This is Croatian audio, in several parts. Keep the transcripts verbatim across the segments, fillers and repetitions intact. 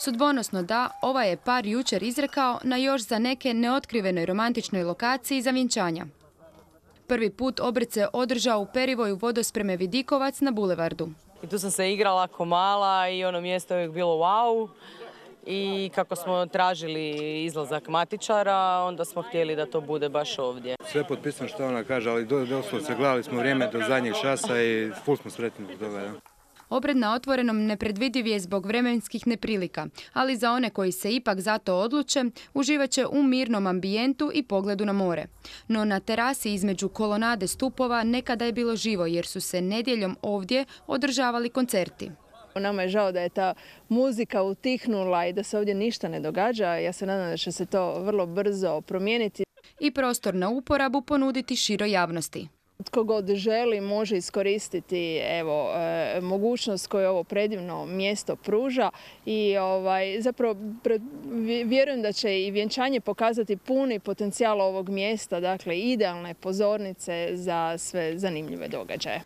Sudbonosno da, ovaj je par jučer izrekao na još za neke neotkrivenoj romantičnoj lokaciji za vjenčanja. Prvi put obred se održao u perivoju vodospreme Vidikovac na bulevardu. I tu sam se igrala ko mala i ono mjesto je uvijek bilo wow. I kako smo tražili izlazak matičara, onda smo htjeli da to bude baš ovdje. Sve potpisano što ona kaže, ali doslovce gledali smo vrijeme do zadnjeg časa i ful smo sretni zbog toga. Ja. Obred na otvorenom nepredvidiv je zbog vremenskih neprilika, ali za one koji se ipak za to odluče, uživat će u mirnom ambijentu i pogledu na more. No na terasi između kolonade stupova nekada je bilo živo jer su se nedjeljom ovdje održavali koncerti. Nama je žao da je ta muzika utihnula i da se ovdje ništa ne događa. Ja se nadam da će se to vrlo brzo promijeniti. I prostor na uporabu ponuditi široj javnosti. Tko god želi može iskoristiti evo, e, mogućnost koju ovo predivno mjesto pruža i ovaj, zapravo pre, vjerujem da će i vjenčanje pokazati puni potencijal ovog mjesta, dakle idealne pozornice za sve zanimljive događaje.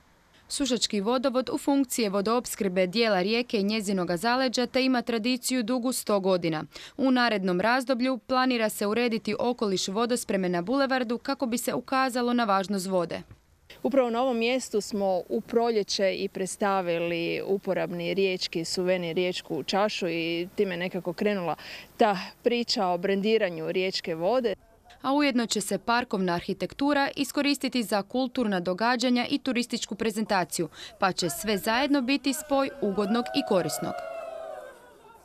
Sušački vodovod u funkciji vodoopskrbe dijela rijeke i njezinoga zaleđa te ima tradiciju dugu sto godina. U narednom razdoblju planira se urediti okoliš vodospreme na bulevardu kako bi se ukazalo na važnost vode. Upravo na ovom mjestu smo u proljeće i predstavili uporabni riječki suvenir riječku čašu i time nekako krenula ta priča o brendiranju riječke vode. A ujedno će se parkovna arhitektura iskoristiti za kulturna događanja i turističku prezentaciju, pa će sve zajedno biti spoj ugodnog i korisnog.